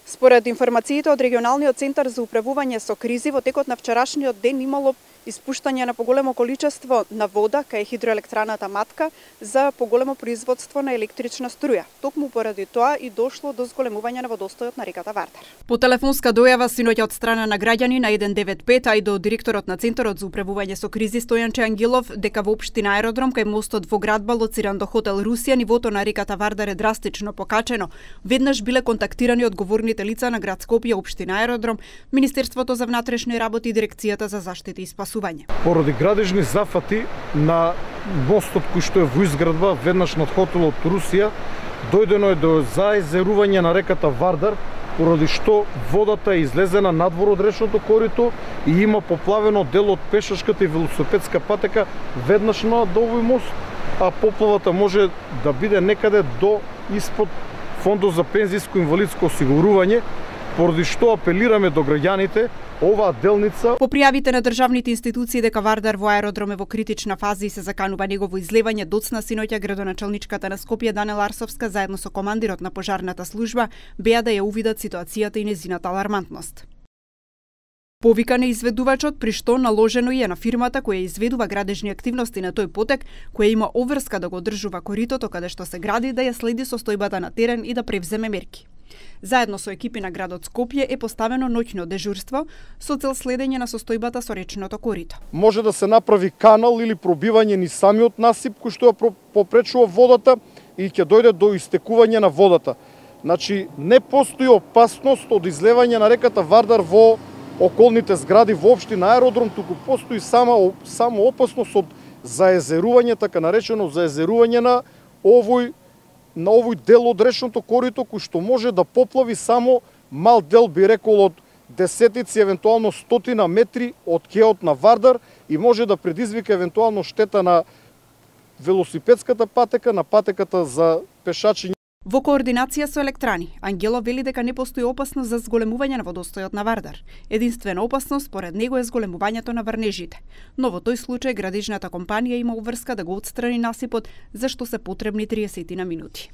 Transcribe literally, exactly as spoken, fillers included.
Според информациите од регионалниот центар за управување со кризи, во текот на вчерашниот ден имало испуштање на поголемо количество на вода кај хидроелектраната Матка за поголемо производство на електрична струја. Токму поради тоа и дошло до зголемување на водостојот на реката Вардар. По телефонска дојава синоќа од страна на граѓани на еден девет пет, а и до директорот на Центарот за управување со кризи Стојанче Ангелов, дека во општина Аеродром кај мостот во град лоциран до хотел Русија, нивото на реката Вардар е драстично покачено. Веднаш биле контактирани одговорните лица на град Скопје, општина Аеродром, Министерството за внатрешни работи и Дирекцијата за заштита и спасување. Поради градежни зафати на мостот кој што е во изградба веднаш над хотелот Русија, дојдено е до заезерување на реката Вардар, поради што водата е излезена надвор од речното корито и има поплавено дел од пешачката и велосипедска патека веднаш на до овој мост, а поплавата може да биде некаде до испод Фондот за пензиско инвалидско осигурување, поради што апелираме до граѓаните оваа делница. По пријавите на државните институции дека Вардар во аеродром е во критична фаза и се заканува негово излевање, доцна синоќа градоначалничката на Скопје Данела Арсовска заедно со командирот на пожарната служба беа да ја увидат ситуацијата и незината алармантност. Повикан е изведувачот, при што наложено и е на фирмата која изведува градежни активности на тој потек, која има обврска да го одржува коритото каде што се гради, да ја следи состојбата на терен и да превземе мерки. Заедно со екипи на градот Скопје е поставено ноќно дежурство со цел следење на состојбата со речното корито. Може да се направи канал или пробивање ни самиот насип кој што ја попречува водата и ќе дојде до истекување на водата. Значи, не постои опасност од излевање на реката Вардар во околните згради во општина Аеродром, туку постои само само опасност од заезерување, така наречено заезерување на овој на овој дел од речното корито кој што може да поплави само мал дел, би рекол, од десетици, евентуално стотина метри од кеот на Вардар и може да предизвика евентуално штета на велосипедската патека, на патеката за пешачи. Во координација со Електрани, Ангелов вели дека не постои опасност за зголемување на водостојот на Вардар. Единствена опасност според него е зголемувањето на врнежите. Но во тој случај градежната компанија има обврска да го отстрани насипот, за што се потребни триесет на минути.